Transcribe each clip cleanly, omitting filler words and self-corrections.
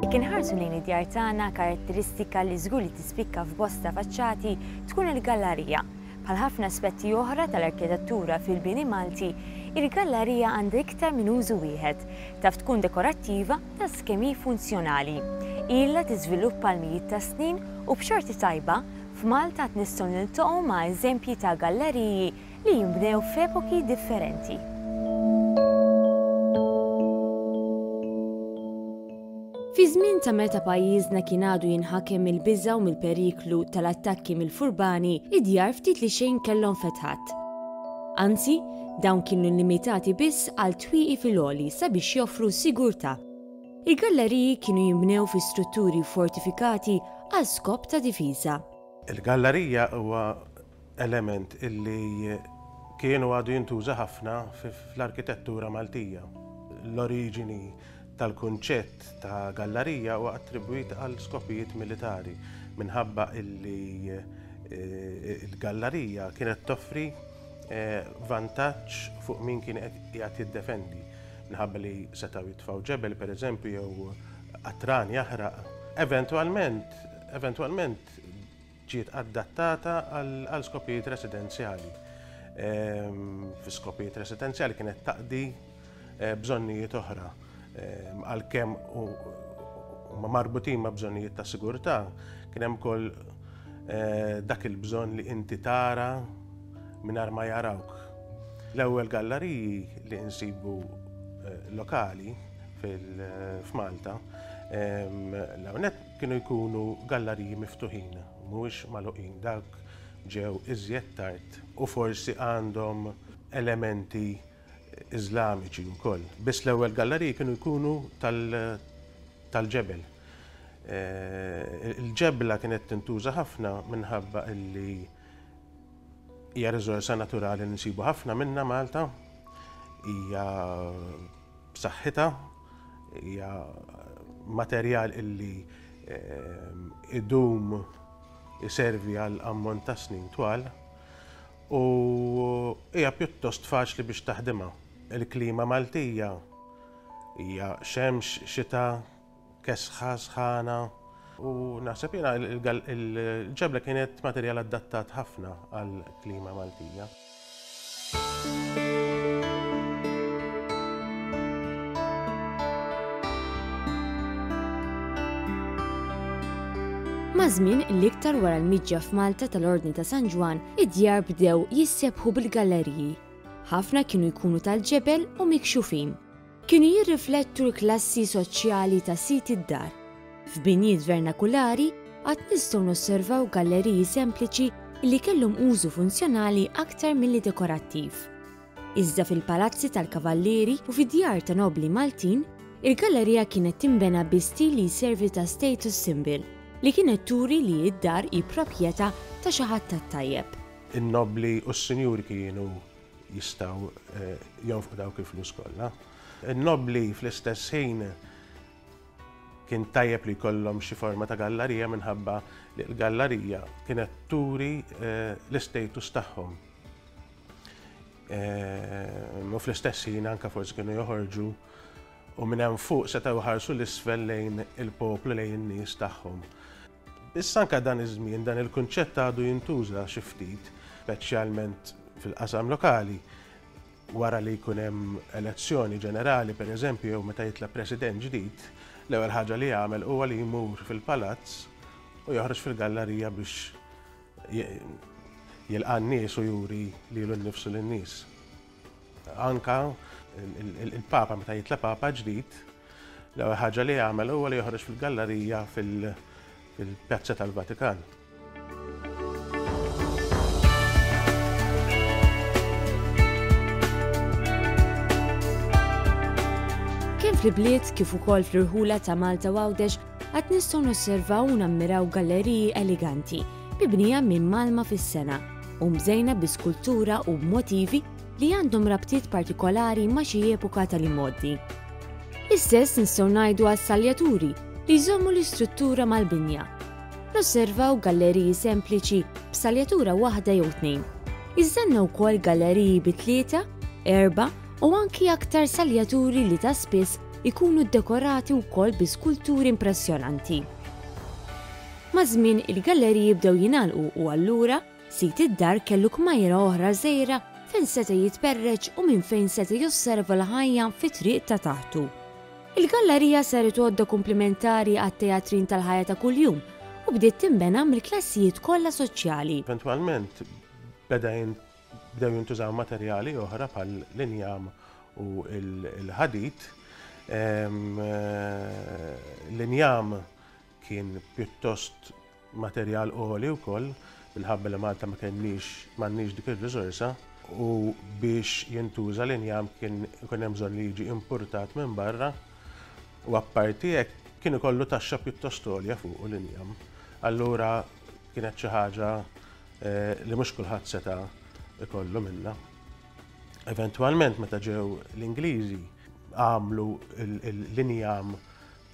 Jekk inħarsu lejn id-djar tagħna, karatteristika li żgur li tispikka f'bosta faċċati tkun il-gallarija. Bħal ħafna aspetti oħra tal-arkitettura fil-bini Malti, il-gallarija għandha iktar minn użu wieħed, taf tkun dekorattiva daqs kemm hi funzjonali. Ilha tiżviluppa għal mijiet ta' snin u b'xorti tajba, f'Malta għad nistgħu niltaqgħu ma' eżempji ta' galleriji li jinbnew f'epoki differenti. Fi żmien ta' meta pajjiżna kien għadu jinħakem mill-biża' u mill-periklu tal-attakki mill-furbani, id-djar ftit li xejn kellhom fetħat. Anzi, dawn kienu limitati biss għal twieqi fil-għoli sabiex joffru sigurtà. Il-galleriji kienu jinbnew fi strutturi fortifikati għal skop ta' difiża. Il-gallerija huwa element illi kien u għadu jintuża ħafna fl-arkitettura Maltija. L-oriġini tal-kunċett ta' gallarija huwa attribwit għal skopijiet militari minħabba illi l-gallarija kienet toffri vantaġġ fuq min kien qiegħed jiddefendi minħabba li setgħu jitfgħu ġebel pereżempju jew qatran jaħraq. Eventwalment, eventwalment ġiet adattata għal skopijiet residenzjali. Fi skopijiet residenzjali kienet taqdi eh, bżonnijiet oħra. Għalkemm huma marbutin ma' bżonnijiet ta' sigurtà, kien hemm ukoll eh, dak il-bżonn li inti tara mingħajr ma jarawk. L-ewwel galleriji li nsibu eh, lokali f'Malta, l-hawnhekk Kienu jkunu gallariji miftuħin, mhuwiex magħluqin. Dawk ġew iżjed tard u forsi għandhom elementi Iżlamiċi wkoll. Biss l-ewwel gallariji kienu jkunu tal-ġebel. Il-ġebla kienet tintuża ħafna minħabba illi hija riżorsa naturali li nsibu ħafna minnha Malta, hija b'saħħitha, hija materjal illi ehm, idum iservi għal ammont ta' snin twal u hija pjuttost faċli biex taħdimha. Il-klima Maltija hija xemx, xita, kesħa, sħana u naħseb jiena il-ġebla kienet materjal adattat ħafna għall-klima Maltija. Maż-żmien, l-iktar wara l-miġja f'Malta tal-Ordni ta' San Ġwann, id-djar bdew jissebħu bil-galleriji. Ħafna kienu jkunu tal-ġebel u mikxufin. Kienu jirriflettu l-klassi soċjali ta' sid id-dar. F'binjiet vernakulari għad nistgħu nosservaw galleriji sempliċi li kellhom użu funzjonali aktar milli dekorattiv. Iżda fil-palazzi tal-kavallieri u fid-djar ta' nobbli Maltin, il-gallerija kienet tinbena bi stil li jservi ta' status symbol, li kienet turi li d-dar hi proprjetà ta' xi ħadd tat-tajjeb. In-nobbli u s-sinjuri kienu jistgħu jonfqu dawk il-flus kollha. In-nobbli fl-istess ħin kien tajjeb li jkollhom xi forma ta' gallarija minħabba li l-gallarija kienet turi l-istatus tagħhom. U fl-istess ħin anke forsi kienu joħorġu u minn hemm fuq setgħu jħarsu l-isfel lejn il-poplu lejn in-nies tagħhom. Issa anke dan iż-żmien dan il-kunċett għadu jintuża xi ftit, speċjalment fil-qasam lokali, wara li jkun hemm elezzjoni ġenerali pereżempju jew meta jitla' president ġdid, l-ewwel ħaġa li jagħmel huwa li jmur fil-palazz u joħroġ fil-gallarija biex jilqa' n-nies u juri lilu nnifsu lin-nies. Anka il-Papa meta jitla' Papa ġdid, l-ewwel ħaġa li jagħmel huwa li joħroġ fil-gallarija fil-Pjazza tal-Vatikan. Kemm fl-ibliet kif ukoll fl-irħula ta' Malta u Għawdex għad nistgħu nosservaw u nammiraw galleriji eleganti mibnija minn malma fis-sena u mżejna bi skultura u b'motivi li għandhom rabtiet partikolari ma' xi epoka tal-imgħoddi. L-istess nistgħu ngħidu għas-saljaturi li jżommu l-istruttura mal-binja. Nosservaw galleriji sempliċi b'saljatura waħda jew tnejn. Iżda għandna wkoll galleriji bi tlieta, erbgħa u anki aktar saljaturi li ta' spiss ikunu ddekorati wkoll bi skulturi impressjonanti. Maż-żmien il-galleriji bdew jingħalqu u allura sid id-dar kellu kmajra oħra żgħira fejn seta' jitperreċ u minn fejn seta' josserva l-ħajja fit-triq ta' taħtu. Il-gallerija saret għodda kumplimentari għat-teatrin tal-ħajja ta' kuljum u bdiet tinbena mill-klassijiet kollha soċjali. Eventwalment beda bdew jintużaw materjali oħra bħal l-injam u l-ħadid. L-injam kien pjuttost materjal għoli wkoll minħabba li Malta ma kenniex m'għandniex dik ir-riżorsa u biex jintuża l-injam kien ikun hemm bżonn li jiġi impurtat minn barra u apparti hekk kien ikollu taxxa pjuttost għolja fuqu l-injam. Allura kienet xi ħaġa li mhux kulħadd seta' ikollu minnha. Eventwalment meta ġew l-Ingliżi għamlu l-injam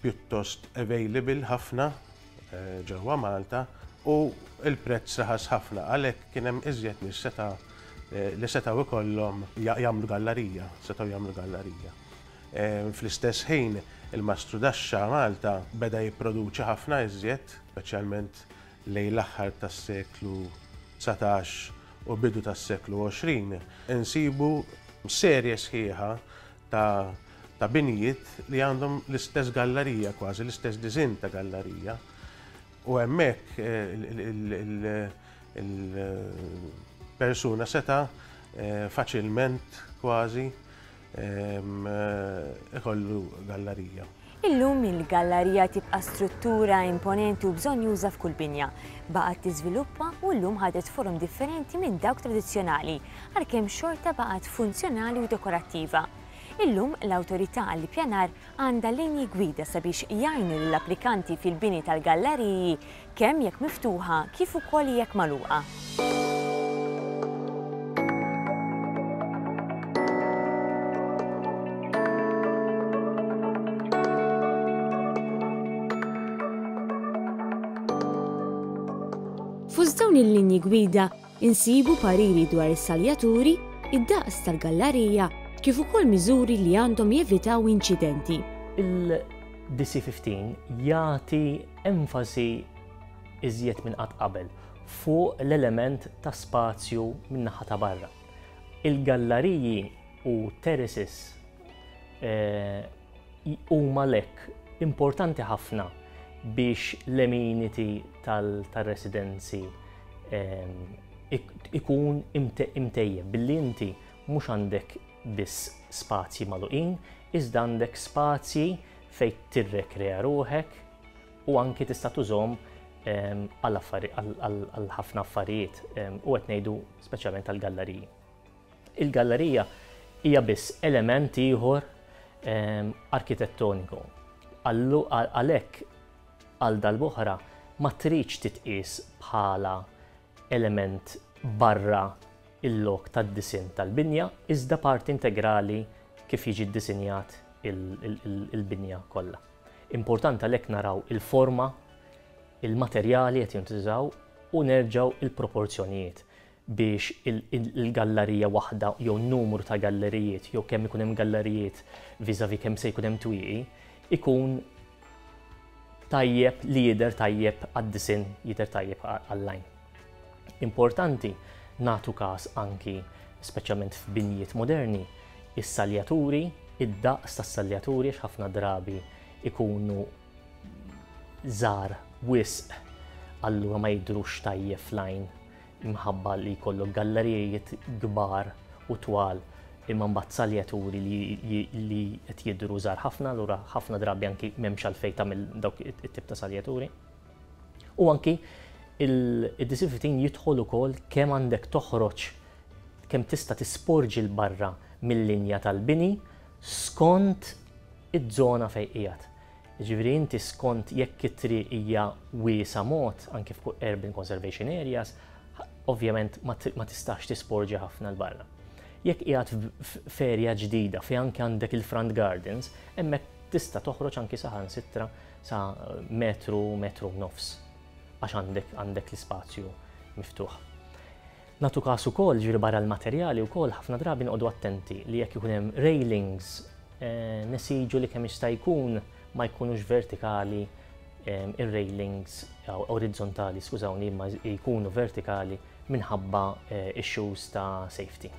pjuttost available ħafna eh, ġewwa Malta u l-prezz raħas ħafna għalhekk kien hemm iżjed nies seta' eh, li setgħu ikollhom jagħmlu gallarija, setgħu jagħmlu gallarija. Eh, fl-istess ħin il-Mastru Daxxa Malta beda jipproduċi ħafna iżjed, speċjalment lejn l-aħħar tas-seklu 19 u bidu tas-seklu 20, insibu serje sħiħa ta' ta' binjiet li għandhom l-istess gallarija kważi, l-istess disinn ta' gallarija. U hemmhekk il-persuna seta' faċilment kważi ikollu gallarija. Illum il-gallarija tibqa' struttura imponenti u bżonnjuża f'kull binja. Baqgħet tiżviluppa u llum ħadet forom differenti minn dawk tradizzjonali, għalkemm xorta baqgħet funzjonali u dekorattiva. Illum l-Awtorità għall-Ippjanar għandha linji gwida sabiex jgħinu lill-applikanti fil-bini tal-gallariji kemm jekk miftuħa kif ukoll jekk magħluqa. Fost dawn il-linji gwida insibu pariri dwar is-saljaturi, id-daqs tal-gallarija kif ukoll miżuri li għandhom jevitaw inċidenti. Il-DC-15 jagħti enfasi iżjed minn qatt qabel fuq l-element ta' spazju min-naħa ta' barra. Il-gallariji u terraces eh, huma lek importanti ħafna biex l-amenity tal-residenzi ehm, ikun imtejjeb billi inti mhux għandek biss spazji magħluqin, iżda għandek spazji fejn tirrekrea ruħek u anki tista' tużhom ehm, għal ħafna affarijiet ehm, u qed ngħidu speċjalment għall-galleriji. Il-gallerija hija biss element ieħor ehm, arkitettoniku. Għalhekk għal darb'oħra ma tridx titqies bħala element barra il-lok tad-disinn tal-binja iżda parti integrali kif jiġi ddisinjat il-binja kollha. Importanti għalhekk naraw il-forma, il-materjali qed jintużaw u nerġgħu il-proporzjonijiet biex il-gallarija waħda jew numru ta' gallerijiet jew kemm ikun hemm gallerijiet vis-à-vis kemm se jkun hemm twieqi ikun tajjeb li jidher tajjeb għad-disinn, jidher tajjeb għall-għajn. Importanti nagħtu każ anki speċjalment f'binjiet moderni, is-saljaturi, id-daqs tas-saljaturi għax ħafna drabi ikunu żgħar wisq allura ma jidhrux tajjeb fl-għajn imħabba li jkollok gallerijiet kbar u twal imma mbagħad saljaturi li qed jidhru żgħar ħafna, allura ħafna drabi anki m'hemmx għalfejn tagħmel dawk it-tip ta' saljaturi. U anki il-DC-15 jidħol ukoll kemm għandek toħroġ kemm tista' tisporġi 'l barra mill-linja tal-bini skont iż-żona fejn qiegħed. Jiġifieri inti skont jekk it-triq hija wiesgħa mod, anki f'urban conservation areas, ovvjament ma tistax tisporġi ħafna 'l barra. Jekk qiegħed f'area ġdida fejn anke għandek il-front gardens, hemmhekk tista' toħroġ anki saħansitra sa metru, metru u nofs għax għandek għandek l-ispazju miftuħ. Nagħtu każ ukoll, ġifieri barra l-materjali wkoll ħafna drabi noqogħdu attenti li jekk ikun hemm railings Nesiġu li kemm jista' jkun ma jkunux vertikali ir-railings orizzontali, skużawni, imma jkunu vertikali minħabba issues ta' safety.